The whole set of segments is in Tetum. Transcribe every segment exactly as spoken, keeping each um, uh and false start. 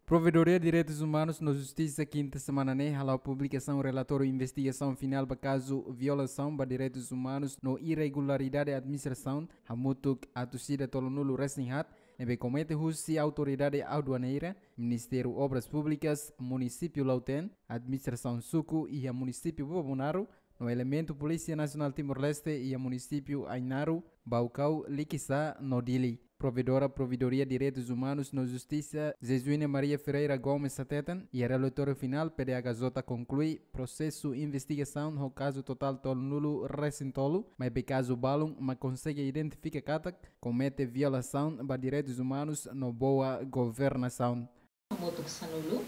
Provedoria Direitus Umanus no Justisa kinta semana ne'e hala'o publikasaun relatóriu investigasaun finál ba kazu violasaun ba direitus umanus no irregularidade administrasaun hamutuk atus ida tolunulu resin haat ne'ebé komete husi autoridade aduaneira, Ministériu Obras Públikas, Munisípiu Lautém, administrasaun suku iha Munisípiu Bobonaro, no elementu Polísia Nasionál Timor-Leste iha Munisípiu Ainaro, Baucau, Liquiçá no Dili. Provedora Provedoria Direitus Umanus no Justisa, Jesuína Maria Ferreira Gomes hateten, iha relatóriu finál P D H J konklui prosesu investigasaun ho kazu totál tolunulu resin tolu, maibé kazu balun mak konsege identifika katak komete violasaun ba direitus umanus no boa governasaun. Hamutuk sanulu,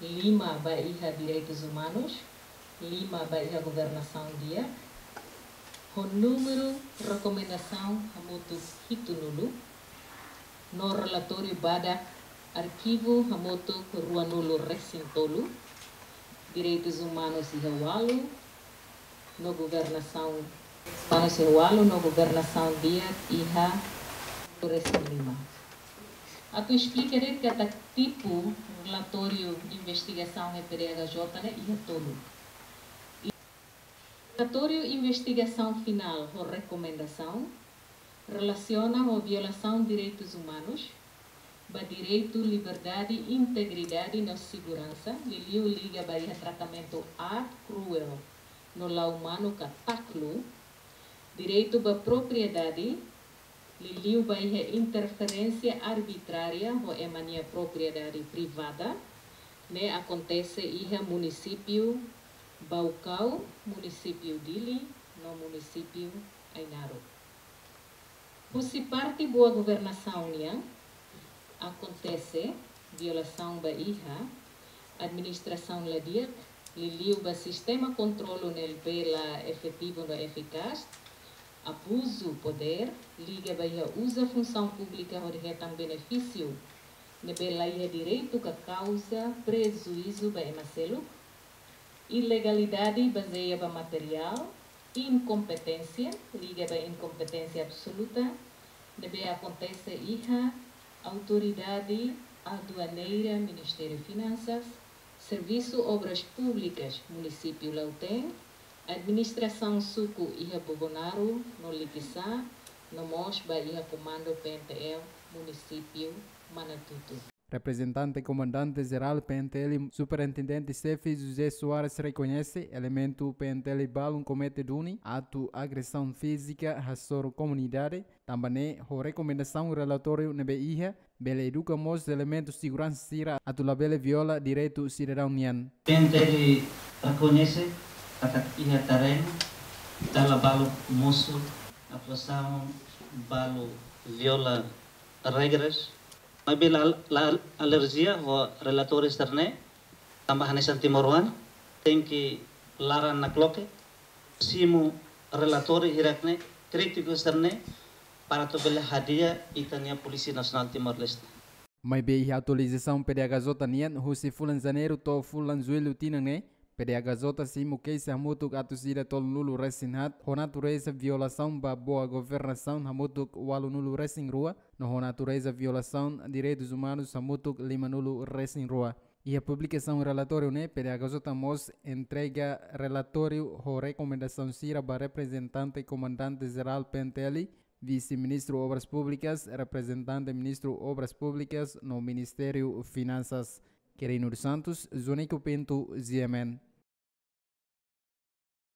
lima ba iha direitus umanus, lima ba iha governasaun di'ak, ho númeru rekomendasaun hamutuk hitunulu, no relatóriu badak arkivu hamutuk ruanulu resin tolu, direitus umanus iha ualu, no governasaun, umanus iha ualu no governasaun di'ak iha resin lima. Atu esplika de'it katak tipu relatóriu investigasaun iha P D H J ne'e iha tolu. Relatóriu investigasaun finál ho rekomendasaun relasiona ho violasaun direitus umanus, ba direitu liberdade, integridade no seguransa, liuliu liga ba iha tratamentu aat, kruel no la umanu ka taklu, direitu ba propriedade, liuliu ba iha interferénsia arbitrária ho ema nia propriedade privada, ne'e akontese iha Munisípiu Baucau, Munisípiu Dili, no Munisípiu Ainaro. Husi parte boa governasaun nian, akontese violasaun ba iha administrasaun la di'ak, liuliu ba sistema kontrolu ne'ebé la efetivu no efikás, abuzu podér, liga ba iha uza funsaun públika hodi hetan benefísiu ne'ebé la iha direitu ka kauza prejuízu ba ema seluk, ilegalidade bazeia ba materiál, inkompeténsia, liga ba inkompeténsia absoluta, ne'ebé akontese iha autoridade aduaneira, Ministériu Finansas, Servisu Obras Públikas Munisípiu Lautém, administrasaun suku iha Bobonaro no Liquiçá, no mós ba iha Komandu P N T L Munisípiu Manatuto. Reprezentante Komandante Jerál P N T L, Superintendente Xefe José Soares rekoñese elementu P N T L balun komete duni atu agresaun fízika hasoru komunidade, tanba ne'e ho rekomendasaun relatóriu ne'ebé iha, bele eduka mós elementu seguransa sira atu labele viola direitu sidadaun nian. P N T L rekoñese katak iha terrenu dala balu mosu atuasaun balu viola regras, maibé la, la alerjia ho relatóriu sira-ne'e, tanba hanesan timoroan, tenke laran nakloke, simu relatóriu hirak-ne'e, krítiku sira-ne'e, para atu bele hadi'a ita-nia Polísia Nasionál Timor-Leste. Maibé iha atualizasaun P D H J nian, husi fulan Janeiru to'o fulan Jullu tinan ne'e, P D H J simu keixa hamutuk atus ida tolunulu resin haat, ho natureza violasaun ba boa governasaun hamutuk ualunulu resin rua, no ho natureza violasaun direitus umanus hamutuk limanulu resin rua. Iha publikasaun relatóriu ne'e, P D H J mós entrega relatóriu ho rekomendasaun sira ba reprezentante Komandante Jerál P N T L, Vise-Ministru Obras Públikas, reprezentante Ministru Obras Públikas no Ministériu Finansas. Quirino dos Santos, Zonico Pinto, G M N.